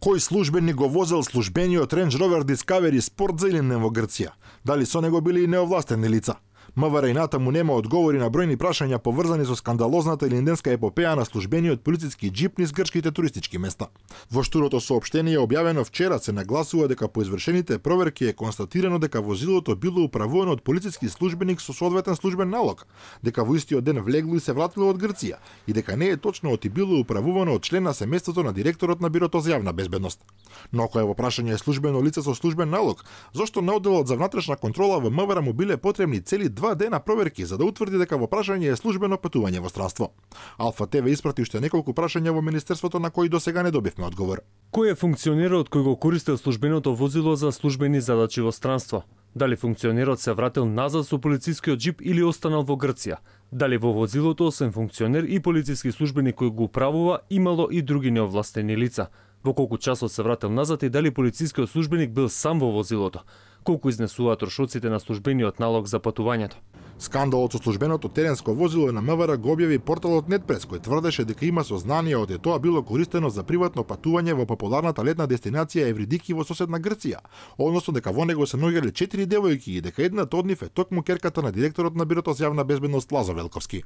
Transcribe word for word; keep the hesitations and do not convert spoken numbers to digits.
Кој службеник го возел службениот Range Rover Discovery Sport за Илинден во Грција? Дали со него били и неовластени лица? МВР и натаму нема одговори на бројни прашања поврзани со скандалозната илинденска епопеја на службениот полициски џип низ грчките туристички места. Во штурото соопштение објавено вчера се нагласува дека по извршените проверки е констатирано дека возилото било управувано од полициски службеник со соодветен службен налог, дека во истиот ден влегло и се вратило од Грција и дека не е точно оти било управувано од член на семејството на директорот на Бирото за јавна безбедност. Но ако е во прашање е службено лице со службен налог, зошто на одделот за внатрешна контрола во МВР му биле потребни цели два дена проверки за да утврди дека во прашање е службено патување во странство? Алфа ТВ испрати уште неколку прашања во Министерството на кои досега не добивме одговор. Кој е функционерот кој го користел службеното возило за службени задачи во странство? Дали функционерот се вратил назад со полицискиот џип или останал во Грција? Дали во возилото освен функционер и полициски службеник кој го управува имало и други неовластени лица? Во колку часот се вратил назад и дали полицискиот службеник бил сам во возилото? Колку изнесуваат трошоците на службениот налог за патувањето? Скандалот со службеното теренско возило на МВР го објави порталот Нетпрес, кој тврдеше дека има сознание од тоа било користено за приватно патување во популарната летна дестинација Евридики во соседна Грција, односно дека во него се наоѓале четири девојки и дека едната од нив е токму ќерката на директорот на Бирото за јавна безбедност Лазо Велковски.